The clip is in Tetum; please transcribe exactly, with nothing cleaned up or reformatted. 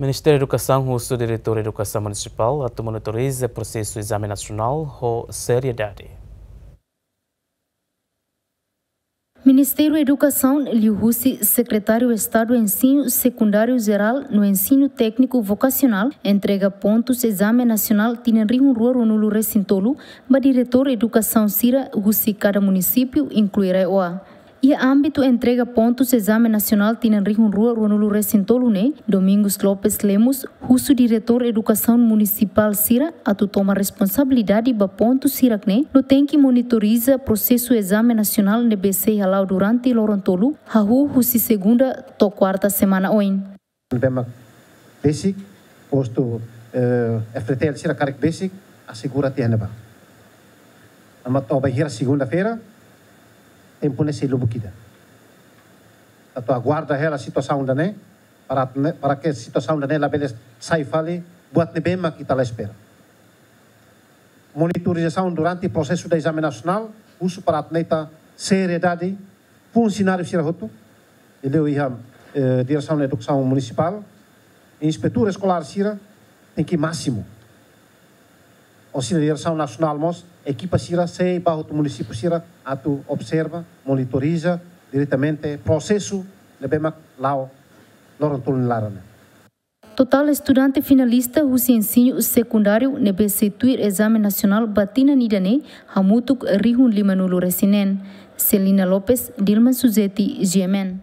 Ministériu Edukasaun husu Diretór Edukasaun Munisipál atu monitoriza prosesu ezame nasionál ho seriedade. Ministériu Edukasaun liuhusi Sekretáriu Estadu Ensinu Sekundáriu Jerál no Ensinu Tékniku Vokasionál entrega pontus ezame nasionál tinan rihun rua ruanulu resin tolu ba diretór edukasaun sira husi kada munisípiu, inklui RAEOA. Iha ámbitu entrega pontus ezame nasionál tinan rihun rua ruanulu resin tolu ne'e, Domingos Lopes Lemos husu diretór edukasaun munisipál sira atu toma responsabilidade ba pontus sira-ne'e no tenke monitoriza prosesu ezame nasionál ne'ebé sei hala'o durante loron tolu, hahú husi segunda to'o kuarta semana oin. Ne'ebé mak besik, postu, eh, F T T L sira karik besik, asegura tiha ne'ebá. Ema to'o bainhira segunda-feira, tempu ne'e sei lubuk ida. Atu aguarda hela situasaun ida-ne'e, para, para ke situasaun ida-ne'e labele sai fali buat ne'ebé mak ita la espera. Monitorizasaun durante prosesu da ezame nasionál, husu para atu nune'e ita seriedade, funsionáriu sira hotu, liuliu iha, eh, Diresaun Edukasaun Munisipál, inspetór eskolár sira, tenke másimu. Orsida Diresaun Nasionál mós, ekipa sira sei ba hotu munisípiu sira atu observa, monitoriza diretamente prosesu ne'ebé mak la'o loron tolu nia laran ne'e. Totál estudante finalista husi ensinu sekundáriu ne'ebé sei tuir ezame nasionál ba tinan ida-ne'e hamutuk rihun limanulu resin neen. Celina Lopes, Dilma Suzeti, G M N.